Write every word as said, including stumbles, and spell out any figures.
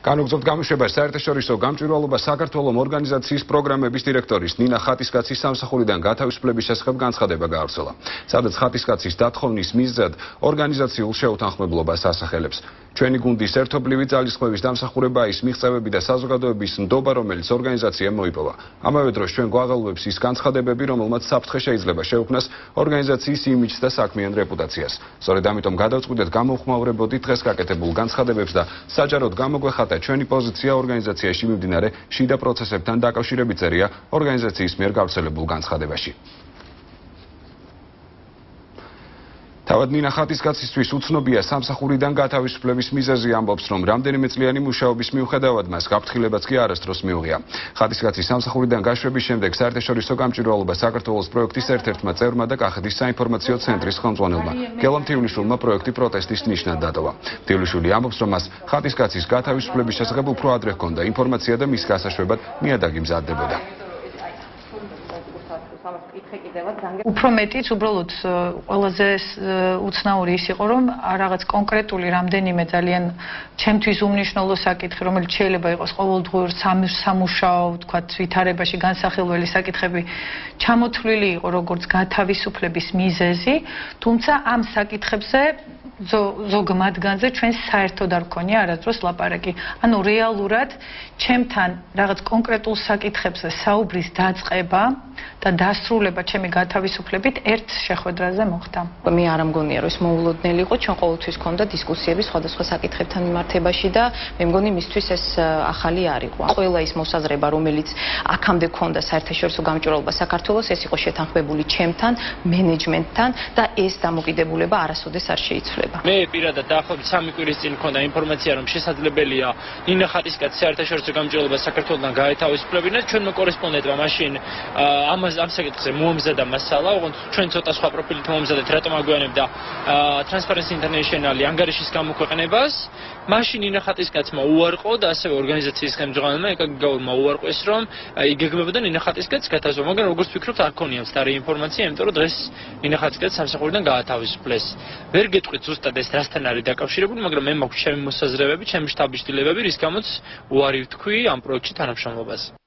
განუგზავთ გამოშვებას საერთაშორისო გამჭვირვალობა საქართველოს ორგანიზაციის პროგრამების დირექტორის ნინა ხატისკაცის სამსახურიდან გათავისუფლების შესახებ განცხადება გაავრცელა. სადაც ხატისკაცის დათხოვნის მიზეზად ორგანიზაციულ შეუთანხმებლობას ასახელებს. ჩვენი გუნდის ერთობლივი ძალისხმევის დამსახურება ის მიღწევები და საზოგადოების ნდობა, რომელიც ორგანიზაციამ მოიპოვა. ამავე დროს ჩვენ გვაღელვებს ის განცხადებები, რომელმაც საფრთხე შეიძლება შეუქმნას ორგანიზაციის იმიჯს და საქმიან რეპუტაციას. სწორედ ამიტომ გადავწყვიტეთ გამოვხმაურებოდით დღეს გაკეთებულ განცხადებებს და საჯაროდ გამოგვეხატა ჩვენი პოზიცია ორგანიზაციაში მიმდინარე შიდა პროცესებთან დაკავშირებით წერია ორგანიზაციის მიერ გავრცელებულ განცხადებაში. თავად ნინა ხატისკაცისთვის უცნობია სამსახურიდან გათავისუფლების მიზეზი, ამბობს, რომ რამდენიმე წლიანი მუშაობის მიუხედავად მას გაფრთხილებაც კი არასდროს მიუღია. ხატისკაცის სამსახურიდან გაშვების შემდეგ საერთაშორისო გამჭვირვალობა საქართველოს პროექტის ერთ-ერთმა წევრმა და კახეთის საინფორმაციო ცენტრის ხელმძღვანელმა გელამ თივლიშვილმა პროექტი პროტესტის ნიშნად დატოვა. თივლიშვილი ამბობს, რომ მას ხატისკაცის გათავისუფლების შესახებ უფრო ადრე ჰქონდა ინფორმაცია და მის გასაშვებად ნიადაგი მზადდებოდა. უფრო მეტიც უბრალოდ ყველაზე უცნაური ის იყო, რომ რაღაც კონკრეტული რამდენიმე ძალიან ჩემთვის უმნიშვნელო საკითხი, რომელიც შეიძლება იყოს ყოველდღიურ სამუშაო, თქვათ, ვითარებაში განსახილველი საკითხები, ჩამოთვლილი იყო როგორც გათავისუფლების მიზეზი, თუმცა ამ საკითხებზე ზოგ მათგანზე ჩვენ საერთოდ არ გქონია არასდროს ლაპარაკი. ანუ რეალურად ჩემთან რაღაც კონკრეტულ საკითხებზე საუბრის დაწყება და დასრულება ჩემი გათავისუფლებით ერთ შეხვედრაზე მოხდა. მე არ მგონია, რომ ეს მოულოდნელი იყო, ჩვენ ყოველთვის ქონდა დისკუსიები სხვადასხვა საკითხებთან მიმართებაში და მე მგონი მისთვის ეს ახალი არ იყო. ყველა ის მოსაზრება, რომელიც აქამდე ქონდა საერთაშორისო გამჭვირვალობა საქართველოს, ეს იყო შეთანხმებული ჩემთან, მენეჯმენტთან და ეს დამოკიდებულება არასოდეს არ შეიცვლება. მე პირადად დაახლოებით სამი კვირის წინ მქონდა ინფორმაცია, რომ შესაძლებელია ნინა ხატისკაცის საერთაშორისო გამჭვირვალობა საქართველოსთან გაეთავისუფლებინა. ჩვენმა კორესპონდენტმა მაშინ ამას ამ საკითხზე მოამზადა მასალა, ოღონდ ჩვენ ცოტა სხვა პროფილით მოამზადეთ, რატომ აგვიანებდა Transparency International ანგარიშის გამოქვეყნებას. მაშინ ნინა ხატისკაცმა უარყო და ასევე ორგანიზაციის ხელმძღვანელმა ეკა გიგაურმა უარყვეს, რომ იგეგმებოდა ნინა ხატისკაცის გათავისუფლება, მაგრამ როგორც ვფიქრობთ, არ ქონია მცდარი ინფორმაცია, იმიტომ რომ დღეს ნინა ხატისკაცი სამსახურიდან გაათავისუფლეს. ვერ გეტყვით ზუსტად ეს რასთან არის დაკავშირებული, მაგრამ მე მაქვს ჩემი მოსაზრებები, ჩემი შტაბის ცვლილებები, რის გამოც უარი ვთქვი ამ პროექტში თანამშრომლობაზე.